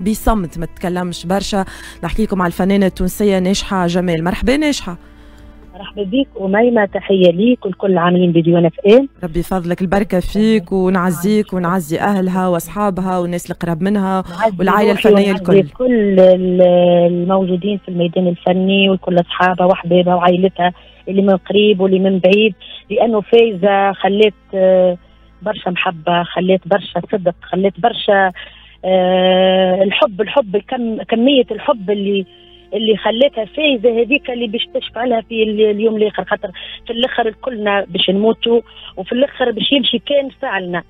بصمت، ما تتكلمش برشا. نحكي لكم على الفنانة التونسية ناجحة جمال. مرحبا ناجحة. مرحبا بك أميمة، تحية ليك والكل عاملين بديوان FM. ربي يفضلك، البركة فيك ونعزيك ونعزي أهلها وأصحابها والناس اللي قراب منها والعائلة الفنية الكل. كل الموجودين في الميدان الفني وكل أصحابها وأحبابها وعائلتها اللي من قريب واللي من بعيد، لأنه فايزة خلت برشا محبة، خلت برشا صدق، خلت برشا الحب، الحب كمية الحب اللي خلتها فايزه هذيك اللي باش تشفع لها في اليوم الاخر، خاطر في الاخر كلنا باش نموتوا وفي الاخر باش يمشي كان فعلنا،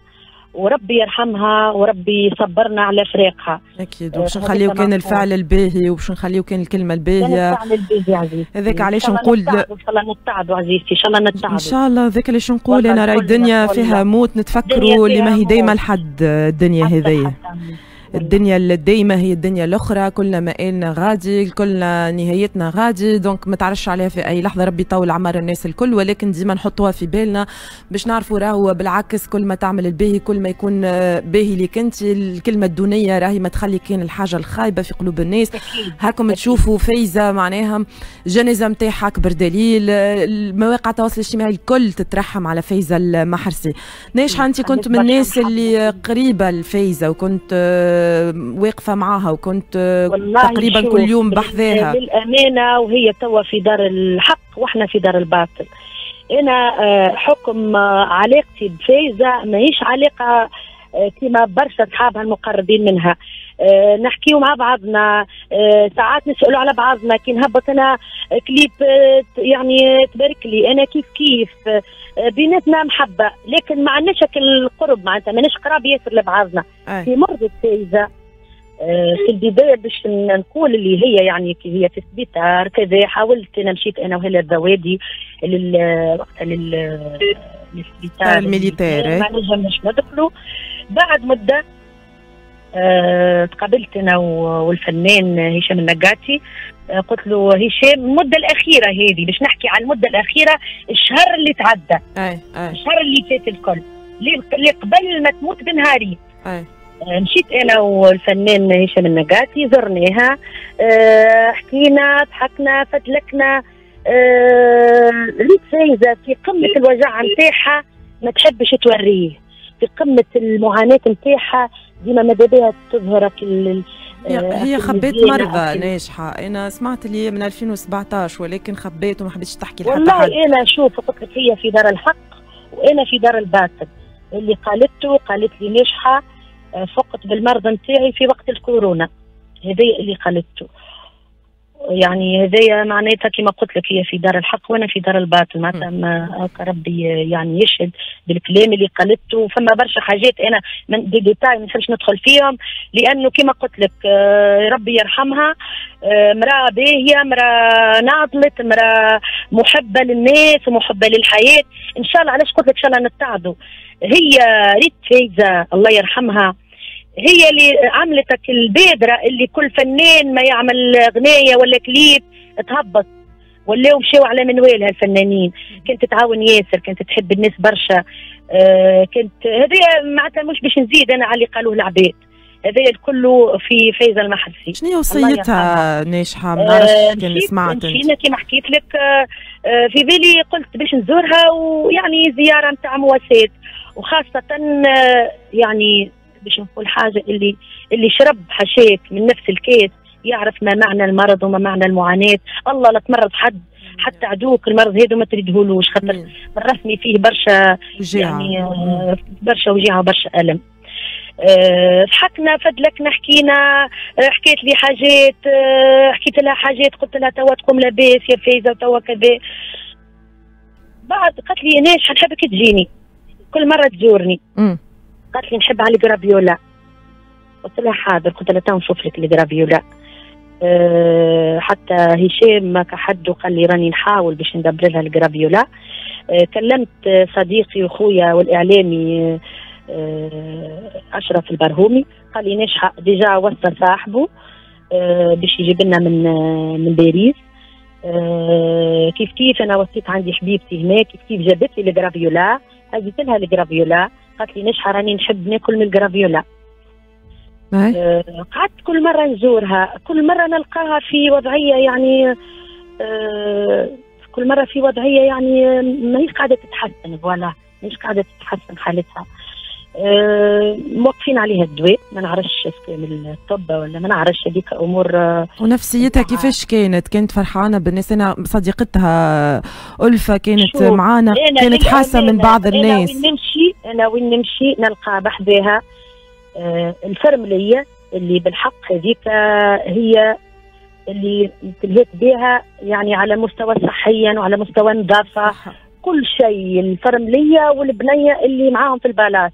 وربي يرحمها وربي يصبرنا على فراقها. اكيد، وباش نخليو كان الفعل الباهي وباش نخليو كان الكلمة الباهيه. الفعل الباهي عزيزتي، هذاك علاش نقول ان شاء الله نتعدوا عزيزتي، ان شاء الله نتعدوا ان شاء الله. هذاك علاش نقول انا راهي الدنيا فيها موت، نتفكروا اللي ما هي دايما لحد الدنيا هذيا. الدنيا الدايمة هي الدنيا الأخرى، كلنا مآلنا غادي، كلنا نهايتنا غادي، donc ما تعرفش عليها في أي لحظة. ربي يطول أعمار الناس الكل، ولكن ديما نحطوها في بالنا باش نعرفوا راهو بالعكس كل ما تعمل الباهي كل ما يكون باهي ليك أنت. الكلمة الدونية راهي ما تخلي كان الحاجة الخايبة في قلوب الناس. هاكم تشوفوا فايزة معناها الجنازة نتاعها أكبر دليل، المواقع التواصل الاجتماعي الكل تترحم على فايزة المحرسي. ناجحة أنت كنت من الناس اللي قريبة لفايزة وكنت واقفة معاها وكنت تقريبا كل يوم بحذاها. للأمانة وهي توا في دار الحق واحنا في دار الباطل. أنا حكم علاقتي بفايزة ماهيش علاقة كما برشا أصحابها المقربين منها، نحكيو مع بعضنا، ساعات نسألوا على بعضنا، كي نهبط أنا كليب يعني تبارك لي أنا كيف كيف، بيناتنا محبة، لكن ما عندناش القرب، معناتها ماناش قراب ياسر لبعضنا. في مرض فايزة في البداية باش نقول اللي هي يعني كي هي في السبيطار كذا، حاولت أنا مشيت أنا وهلا الذوادي وقتها للسبيطار ال militaire، ما نجمش ندخلوا. بعد مدة تقابلت أنا والفنان هشام النقاتي، قلت له هشام المدة الأخيرة هذه باش نحكي على المدة الأخيرة، الشهر اللي تعدى، الشهر اللي فات الكل، اللي قبل ما تموت بنهارين، مشيت أنا والفنان هشام النقاتي زرناها، حكينا ضحكنا فتلكنا. ريت فايزة في قمة الوجع نتاعها ما تحبش توريه، في قمة المعاناة نتاعها ديما ماذا بها تظهر. هي خبيت مرضى ناجحة، أنا سمعت اللي من 2017 ولكن خبيت وما حبيتش تحكي لحتى حد. والله أنا شوف قلت لك هي في دار الحق وأنا في دار الباطل. اللي قالته قالت لي ناجحة فقت بالمرض نتاعي في وقت الكورونا، هذا اللي قالته، يعني هذايا معناتها كما قلت لك هي في دار الحق وانا في دار الباطل، معناتها ربي يعني يشهد بالكلام اللي قالته. فما برشا حاجات انا من des détails ما نحبش ندخل فيهم، لانه كما قلت لك ربي يرحمها، مراة باهيه، مراة ناضلت، مراة محبة للناس ومحبه للحياة. ان شاء الله علاش قلت لك ان شاء الله نتعدوا. هي ريت فايزه الله يرحمها هي اللي عملت البادرة اللي كل فنان ما يعمل غناية ولا كليب تهبط، ولاو مشاو على منوالها الفنانين. كانت تتعاون ياسر، كانت تحب الناس برشا، كانت هذه معناتها مش باش نزيد انا على اللي قالوه العباد، هذايا الكل في فايزة المحرسي. شنو هي وصيتها ناجحة؟ ما نعرفش كان سمعت. مشينا كيما حكيت لك في بالي قلت باش نزورها، ويعني زيارة نتاع مواساة، وخاصة يعني باش نقول حاجة، اللي شرب حشاك من نفس الكاس يعرف ما معنى المرض وما معنى المعاناة. الله لا تمرض حد، حتى عدوك المرض هذا ما تريدهولوش، خاطر بالرسمي فيه برشا يعني برشا وجيعه وبرشا الم. ضحكنا فدلكنا حكينا، حكيت لي حاجات، حكيت لها حاجات، قلت لها توا تقوم لاباس يا فايزه وتوا كذا. بعد قالت لي ناجحة نحبك تجيني كل مرة تزورني. قالت لي نحب على الجرافيولا، قلت لها حاضر، قلت لها تو نشوف لك الجرافيولا. حتى هشام ما كحد وقال لي راني نحاول باش ندبر لها الجرافيولا. كلمت صديقي وخويا والاعلامي اشرف البرهومي، قال لي ناجحة déjà وصل صاحبه باش يجيب لنا من باريس. كيف كيف انا وصيت عندي حبيبتي هناك، كيف كيف جابت لي الجرافيولا، هزيت لها الجرافيولا، قالت لي ناجحة راني نحب ناكل من الجرافيولا. قعدت كل مرة نزورها، كل مرة نلقاها في وضعية يعني كل مرة في وضعية يعني ماهيش قاعدة تتحسن، voilà ماهيش قاعدة تتحسن حالتها. موقفين عليها الدواء، ما نعرفش من الطب ولا ما نعرفش هذيك امور. ونفسيتها كيفاش كانت؟ كانت فرحانة بالناس؟ انا صديقتها ألفة كانت معانا، كانت حاسه من بعض الناس. انا وين نمشي نلقى بحذاها الفرمليه اللي بالحق هذيك هي اللي تلهيت بها يعني على مستوى صحيا وعلى مستوى النظافة، كل شيء، الفرمليه والبنية اللي معاهم في البلاص.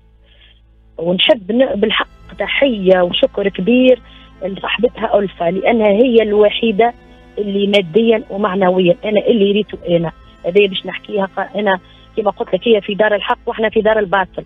ونحب بالحق تحية وشكر كبير لصاحبتها ألفة، لأنها هي الوحيدة اللي ماديا ومعنويا أنا اللي ريته أنا هذه باش نحكيها. أنا كما قلت لك هي في دار الحق وإحنا في دار الباطل،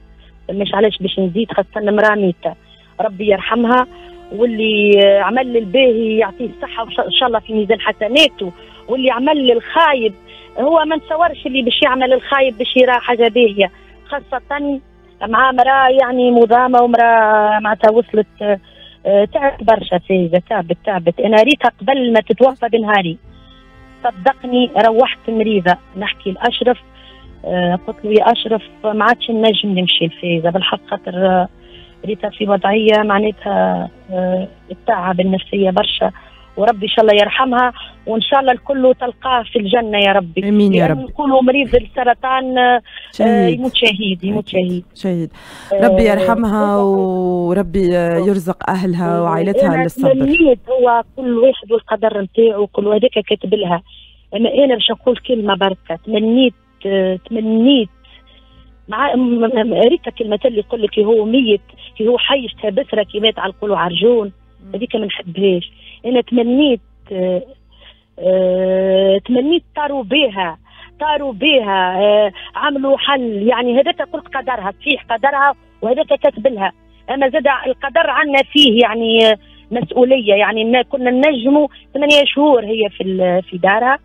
مش علاش باش نزيد، خاصة امرأة ميتة ربي يرحمها، واللي عمل الباهي يعطيه الصحة وإن شاء الله في ميزان حسناته، واللي عمل الخايب هو ما نتصورش اللي باش يعمل الخايب باش يرى حاجة باهية، خاصة مع امرأة يعني مضامة ومرأة معناتها وصلت تعبت برشا فايزة، تعبت. أنا ريتها قبل ما تتوفى بنهاري، صدقني روحت مريضة، نحكي لأشرف قلت له يا أشرف ما عادش نجم نمشي الفايزة بالحق، خاطر ريتها في وضعية معناتها التعب النفسية برشا، وربي إن شاء الله يرحمها وإن شاء الله الكل تلقاه في الجنة يا ربي. آمين يا رب. نقولوا مريض السرطان يموت شهيد، يموت شهيد. شهيد. ربي يرحمها وربي يرزق أهلها وعائلتها للصبر. هو كل واحد والقدر نتاعو، كل هذاك كاتب لها. أما أنا باش نقول كلمة بركة، تمنيت مع ريتا كلمة اللي يقول لك هو ميت كي هو حي بسرة كي مات على القلوع عرجون، هذيك ما نحبهاش. انا تمنيت تمنيت طاروا بيها عملوا حل، يعني هذاك قلت قدرها صحيح قدرها وهذاك كاتب لها، اما زاد القدر عندنا فيه يعني مسؤولية، يعني كنا ننجموا 8 شهور هي في دارها.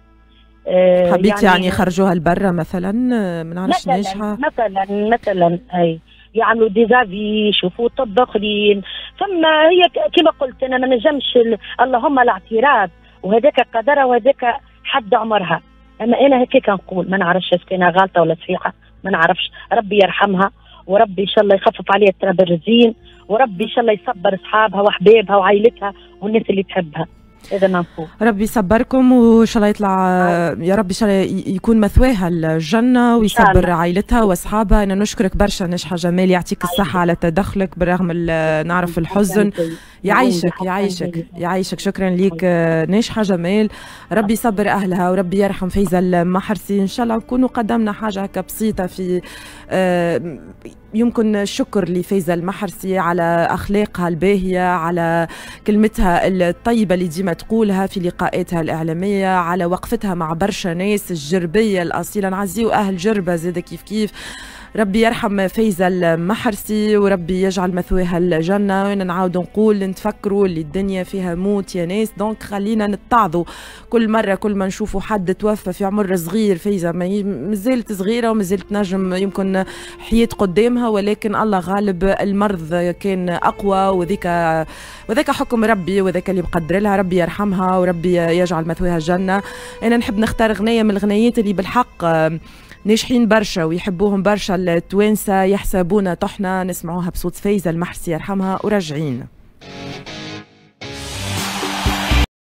حبيت يعني خرجوها لبرا مثلا، ما نعرفش ناجحة مثلا اي يعملوا des avis، يشوفوا طب اخرين. ثم هي كما قلت انا ما نجمش اللهم الاعتراض، وهذاك قدرها وهذاك حد عمرها. اما انا هكاك نقول، ما نعرفش est-ce que انا غالطه ولا صحيحه، ما نعرفش. ربي يرحمها وربي ان شاء الله يخفف عليها التراب الرزين، وربي ان شاء الله يصبر اصحابها واحبابها وعائلتها والناس اللي تحبها. هذا ما نقول. ربي يصبركم وان شاء الله يطلع يا رب، ان شاء الله يكون مثواها الجنة ويصبر عائلتها واصحابها. انا نشكرك برشا نجحة جمال، يعطيك الصحة على تدخلك بالرغم نعرف الحزن. يعيشك يعيشك يعيشك، شكرا ليك ناجحة جمال. ربي يصبر اهلها وربي يرحم فايزه المحرسي. ان شاء الله نكونوا قدمنا حاجة هكا بسيطة في يمكن الشكر لفايزة المحرسي على أخلاقها الباهية، على كلمتها الطيبة اللي ديما تقولها في لقاءاتها الإعلامية، على وقفتها مع برشا ناس الجربية الأصيلة. نعزيو أهل جربة زادة كيف كيف. ربي يرحم فايزة المحرسي وربي يجعل مثواها الجنة. وانا نعاود نقول نتفكروا اللي الدنيا فيها موت يا ناس، donc خلينا نتعظوا كل مرة كل ما نشوفوا حد توفى في عمر صغير. فايزة مازالت صغيرة ومازالت نجم يمكن حياة قدامها، ولكن الله غالب المرض كان أقوى، وذاك حكم ربي وذاك اللي مقدر لها. ربي يرحمها وربي يجعل مثواها الجنة. أنا نحب نختار غنية من الغنيات اللي بالحق ناجحين برشا ويحبوهم برشا التوانسة، يحسبونا طحنا، نسمعوها بصوت فايزة المحرسي يرحمها وراجعين.